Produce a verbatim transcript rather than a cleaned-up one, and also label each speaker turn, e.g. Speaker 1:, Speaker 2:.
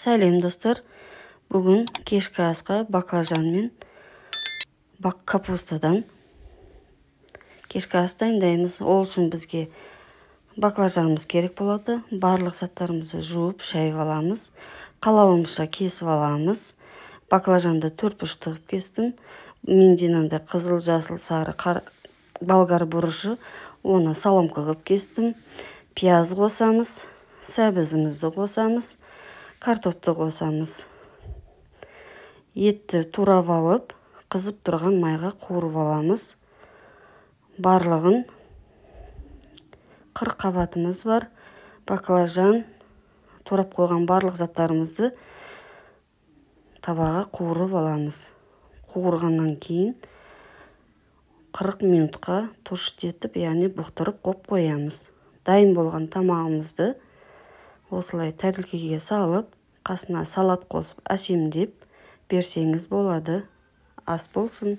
Speaker 1: Сәлем достар. Бүгін кешкі асқа баклажан мен бак капустадан кешкі ас дайындаймыз. Ол үшін бізге баклажанымыз керек болады. Барлық заттарымызды жуып, шайып аламыз. Қалауымызша кесіп аламыз. Баклажанды төрт бұрыш тығып кестім. Менденанды қызыл, жасыл, сары, болгар бұрышы. Оны соломка қылып кестім. Пияз қосамыз, сәбізімізді қосамыз, картопты қосамыз. Етті турап алып, қызып тұрған майға қуырып аламыз. Барлығын қырық қабатымыз бар. Баклажан, турап қойған барлық заттарымызды табаға қуырып аламыз. Қуырғаннан кейін қырық минутқа тұштетіп, яғни бұқтырып қоп қоямыз. Дайын болған тамағымызды осылай тәрелкеге салып, қасына салат қосып, әсемдеп берсеңіз болады. Ас болсын.